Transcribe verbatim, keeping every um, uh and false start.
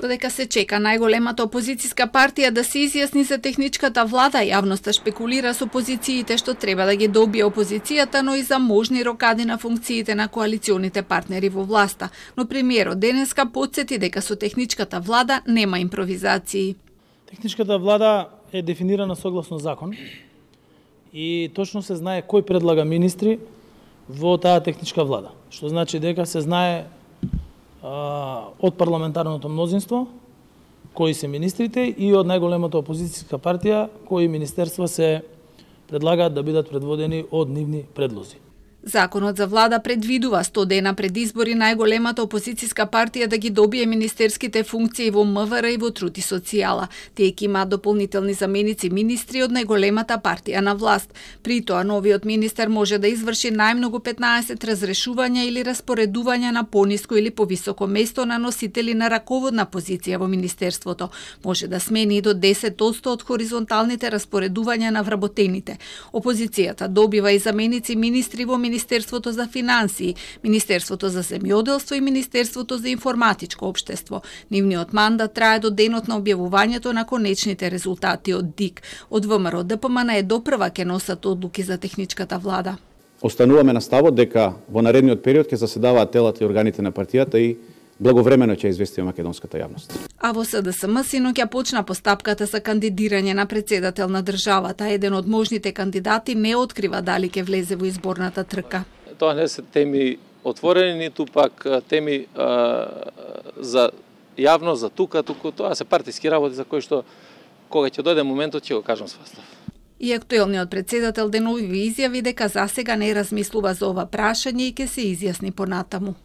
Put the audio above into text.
Додека се чека најголемата опозицијска партија да се изјасни за техничката влада, јавноста шпекулира со позициите што треба да ги добие опозицијата, но и за можни рокади на функциите на коалиционите партнери во власта. Но премиерот денеска потсети дека со техничката влада нема импровизации. Техничката влада е дефинирана согласно закон и точно се знае кој предлага министри во таа техничка влада. Што значи дека се знае а, од парламентарното мнозинство кои се министрите и од најголемата опозицијска партија кои министерства се предлагаат да бидат предводени од нивни предлози. Законот за влада предвидува сто дена пред избори најголемата опозицијска партија да ги добие министерските функции во МВР и во Труд и социјала. Тие ќе имаат дополнителни заменици министри од најголемата партија на власт. При тоа новиот министер може да изврши најмногу петнаесет разрешувања или распоредувања на пониско или повисоко место на носители на раководна позиција во министерството. Може да смени и до десет одсто од хоризонталните распоредувања на вработените. Опозицијата добива и заменици министри во Министерството за финансии, Министерството за земјоделство и Министерството за информатичко општество. Нивниот мандат трае до денот на објавувањето на конечните резултати од ДИК. Од ВМРО ДПМН е допрва ќе носат одлуки за техничката влада. Остануваме на ставот дека во наредниот период ќе заседаваат телата и органите на партијата и благовремено ќе известиме македонската јавност. А во СДСМ синоќа почна постапката за кандидирање на председател на државата. Еден од можните кандидати не открива дали ќе влезе во изборната трка. Тоа не се теми отворени, ниту пак теми а, за јавност, за тука, туку тоа се партиски работи за кои што кога ќе дојде моментот ќе го кажам свастав. И актуелниот председател денови изјави дека засега не размислува за ова прашање и ќе се изјасни понатаму.